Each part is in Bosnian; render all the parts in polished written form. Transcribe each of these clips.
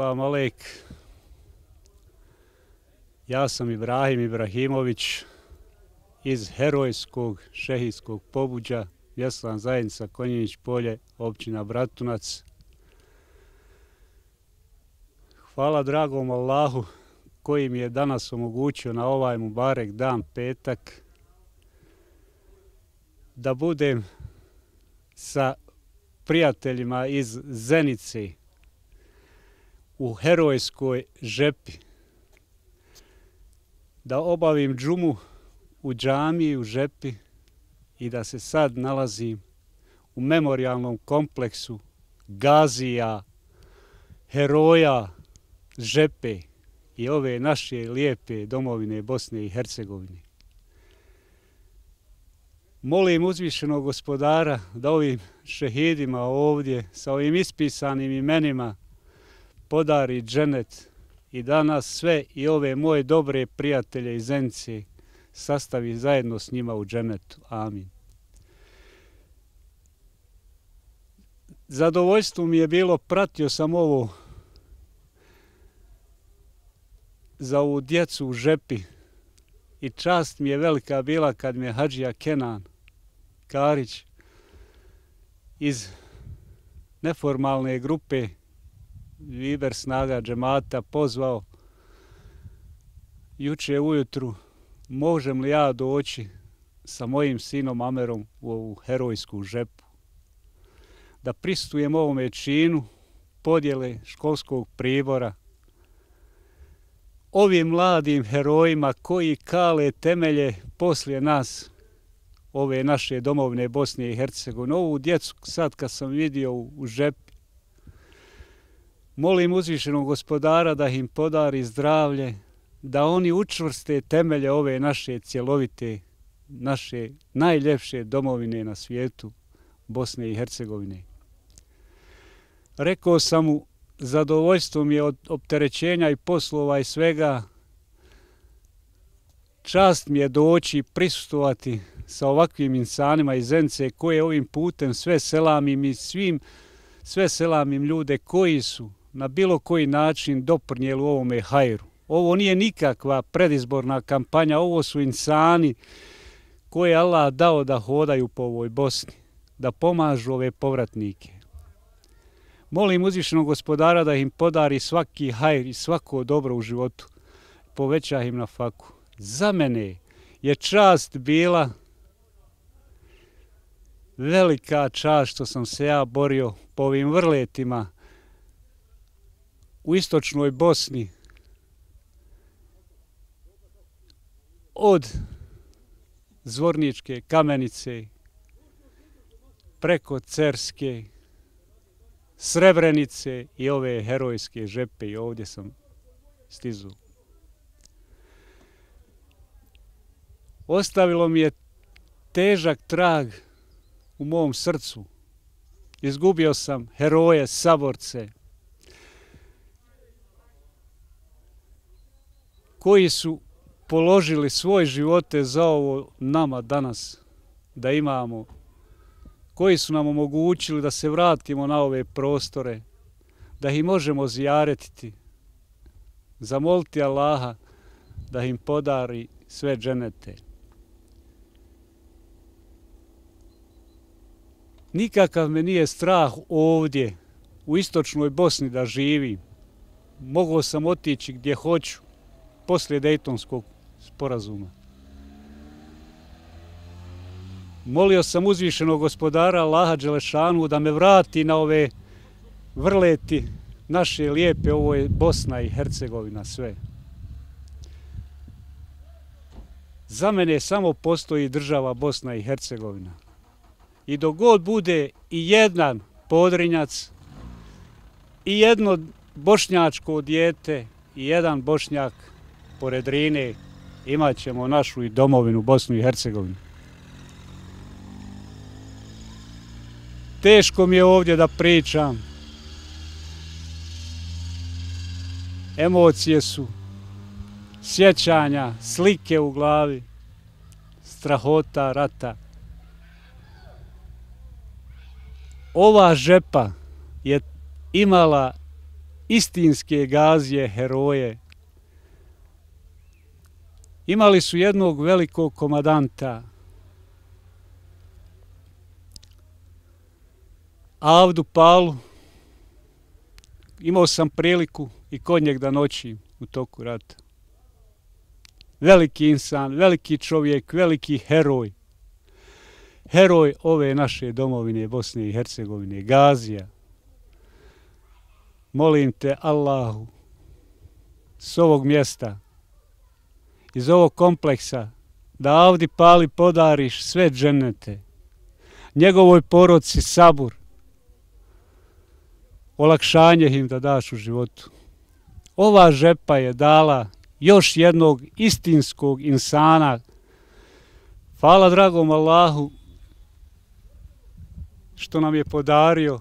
Selam alejk. Ja sam Ibrahim Ibrahimović iz herojskog šehidskog pobuđa, vjerstvena zajednica Konjinić polje, općina Bratunac. Hvala dragom Allahu koji mi je danas omogućio na ovaj mubarek dan, petak, da budem sa prijateljima iz Zenice u herojskoj žepi, da obavim džumu u džamiji u žepi i da se sad nalazim u memorijalnom kompleksu gazija, heroja žepe i ove naše lijepe domovine Bosne i Hercegovine. Molim uzvišenog gospodara da ovim šehidima ovdje sa ovim ispisanim imenima podari dženet i da nas sve i ove moje dobre prijatelje iz Zenice sastavi zajedno s njima u dženetu. Amin. Zadovoljstvo mi je bilo, pratio sam ovo za ovu djecu u žepi i čast mi je velika bila kad me Hadžija Kenan Karić iz neformalne grupe Viber snaga džemata pozvao juče ujutru, možem li ja doći sa mojim sinom Amerom u ovu herojsku žepu, da prisustvujem ovome činu podjele školskog pribora ovim mladim herojima koji kale temelje poslije nas, ove naše domovine Bosne i Hercegovine. Ovu djecu sad kad sam vidio u žepi, molim uzvišenog gospodara da im podari zdravlje, da oni učvrste temelje ove naše cjelovite, naše najljepše domovine na svijetu, Bosne i Hercegovine. Rekao sam mu, zadovoljstvo mi je od opterećenja i poslova i svega, čast mi je doći i prisustvovati sa ovakvim insanima iz Zenice koje ovim putem sve selamim i sve selamim ljude koji su na bilo koji način doprinijeli u ovome hajru. Ovo nije nikakva predizborna kampanja, ovo su insani koje je Allah dao da hodaju po ovoj Bosni, da pomažu ove povratnike. Molim uzvišenog gospodara da im podari svaki hajr i svako dobro u životu, poveća im na faku. Za mene je čast bila, velika čast što sam se ja borio po ovim vrletima u istočnoj Bosni, od Zvorničke Kamenice preko Cerske, Srebrenice i ove herojske žepe, i ovdje sam stizao. Ostavilo mi je težak trag u mom srcu. Izgubio sam heroje, saborce, koji su položili svoje živote za ovo nama danas da imamo, koji su nam omogućili da se vratimo na ove prostore, da ih možemo zijaretiti, zamoliti Allaha da im podari sve dženete. Nikakav me nije strah ovdje u istočnoj Bosni da živim. Mogao sam otići gdje hoću poslije Dejtonskog sporazuma. Molio sam uzvišenog gospodara Allaha Đelešanu da me vrati na ove vrleti naše lijepe, ovo je Bosna i Hercegovina sve. Za mene samo postoji država Bosna i Hercegovina. I dok god bude i jedan Podrinjac, i jedno bošnjačko dijete, i jedan Bošnjak pored Drine, imat ćemo našu i domovinu Bosnu i Hercegovinu. Teško mi je ovdje da pričam. Emocije su, sjećanja, slike u glavi, strahota rata. Ova žepa je imala istinske gazije, heroje. Imali su jednog velikog komadanta, Avdu Palu. Imao sam priliku i kod njeg da noćim u toku rata. Veliki insan, veliki čovjek, veliki heroj. Heroj ove naše domovine Bosne i Hercegovine, gazija. Molim te, Allahu, s ovog mjesta, iz ovog kompleksa, da Avdi Pali podariš sve dženete, njegovoj porodci sabur, olakšanje im da daš u životu. Ova žepa je dala još jednog istinskog insana. Hvala dragom Allahu što nam je podario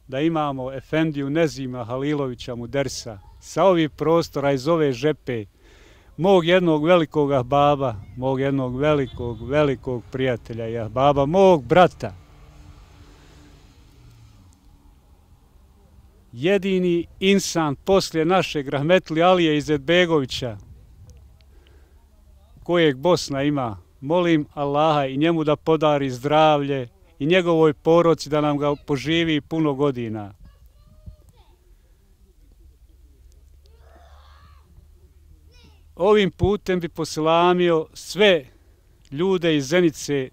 da imamo Efendiju Nezima Halilovića Mudersa sa ovih prostora iz ove žepe, mog jednog velikog ahbaba, mog jednog velikog prijatelja i ahbaba, mog brata. Jedini insan poslije našeg rahmetli Alije Izetbegovića, kojeg Bosna ima, molim Allaha i njemu da podari zdravlje i njegovoj porodci da nam ga poživi puno godina. Ovim putem bi poselamio sve ljude iz Zenice,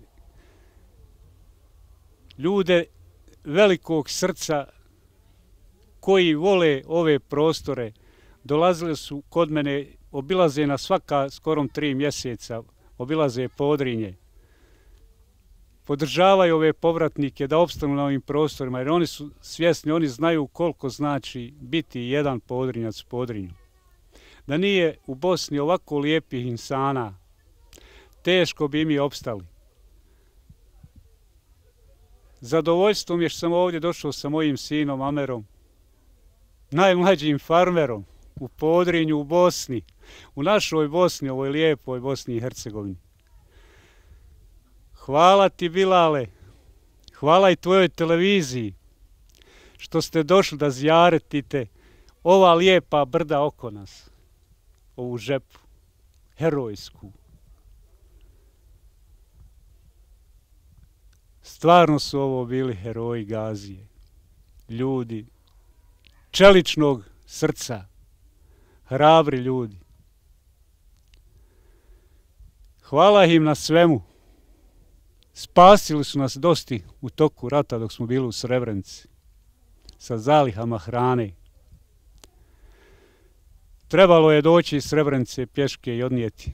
ljude velikog srca koji vole ove prostore. Dolazili su kod mene, obilaze na svaka skorom 3 mjeseca, obilaze Podrinje. Podržavaju ove povratnike da opstanu na ovim prostorima, jer oni su svjesni, oni znaju koliko znači biti jedan Podrinjac u Podrinju. Da nije u Bosni ovako lijepih insana, teško bi mi opstali. Zadovoljstvo mi je što sam ovdje došao sa mojim sinom Amerom, najmlađim farmerom u Podrinju, u Bosni, u našoj Bosni, ovoj lijepoj Bosni i Hercegovini. Hvala ti, Bilale, hvala i tvojoj televiziji što ste došli da zijaretite ova lijepa brda oko nas, ovu žepu, herojsku. Stvarno su ovo bili heroji gazije, ljudi čeličnog srca, hrabri ljudi. Hvala im na svemu. Spasili su nas dosti u toku rata dok smo bili u Srebrenici sa zalihama hrane. Trebalo je doći iz Srebrenice pješke i odnijeti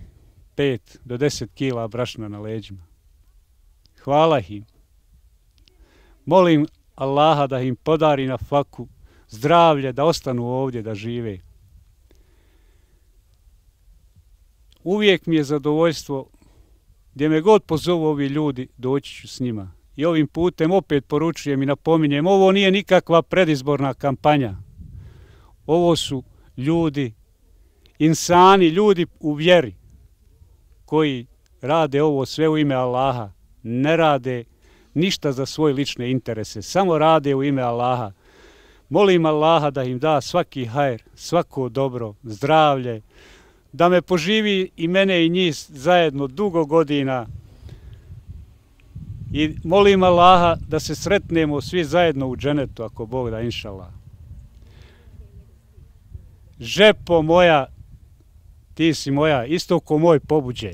5 do 10 kila brašna na leđima. Hvala im. Molim Allaha da im podari na faku zdravlje, da ostanu ovdje, da žive. Uvijek mi je zadovoljstvo, gdje me god pozovu ovi ljudi, doći ću s njima. I ovim putem opet poručujem i napominjem, ovo nije nikakva predizborna kampanja. Ovo su ljudi, insani, ljudi u vjeri, koji rade ovo sve u ime Allaha. Ne rade ništa za svoje lične interese, samo rade u ime Allaha. Molim Allaha da im da svaki hajr, svako dobro, zdravlje, da me poživi i mene i njih zajedno dugo godina. I molim Allaha da se sretnemo svi zajedno u dženetu, ako Bog da, inšallah. Žepo moja, ti si moja, isto ko moj pobuđe.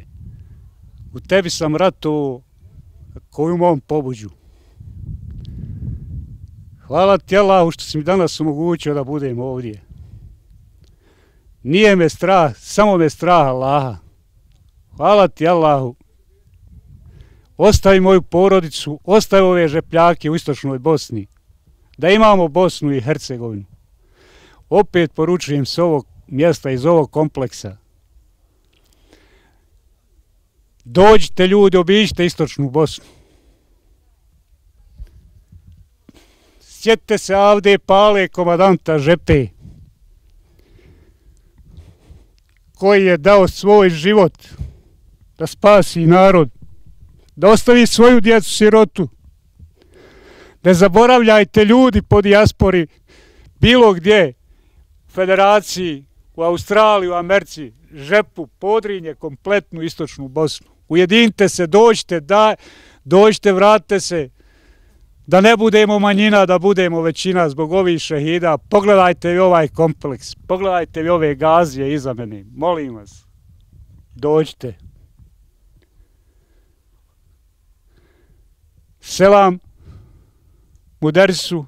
U tebi sam ratovao koju mom pobuđu. Hvala ti Allahu što si mi danas omogućio da budem ovdje. Nije me strah, samo me strah Allaha. Hvala ti Allahu. Ostavi moju porodicu, ostavi ove žepljake u istočnoj Bosni. Da imamo Bosnu i Hercegovinu. Opet poručujem s ovog mjesta, iz ovog kompleksa. Dođite ljudi, obiđite istočnu Bosnu. Sjetite se Avde Pale, komadanta žepe, koji je dao svoj život da spasi narod, da ostavi svoju djecu sirotu. Ne zaboravljajte ljudi po dijaspori, bilo gdje, Federaciji, u Australiji, u Americi, Žepu, Podrinje, kompletnu istočnu Bosnu. Ujedinite se, dođite, vratite se, da ne budemo manjina, da budemo većina zbog ovih šehida. Pogledajte vi ovaj kompleks, pogledajte vi ove gazije iza mene, molim vas, dođite. Selam Muderrisu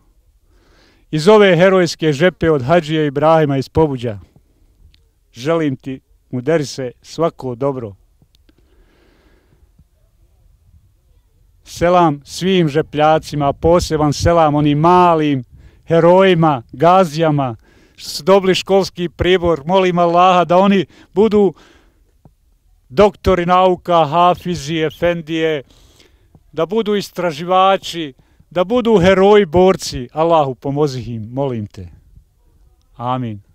iz ove herojske Žepe od Hadžije Ibrahima iz Pobuđa. Želim ti, Muderrise, svako dobro. Selam svim žepljacima, poseban selam onim malim herojima, gazijama, što su dobili školski pribor. Molim Allaha da oni budu doktori nauka, hafizi, efendije, da budu istraživači, da budu heroji, borci. Allahu pomozi im, molim te. Amin.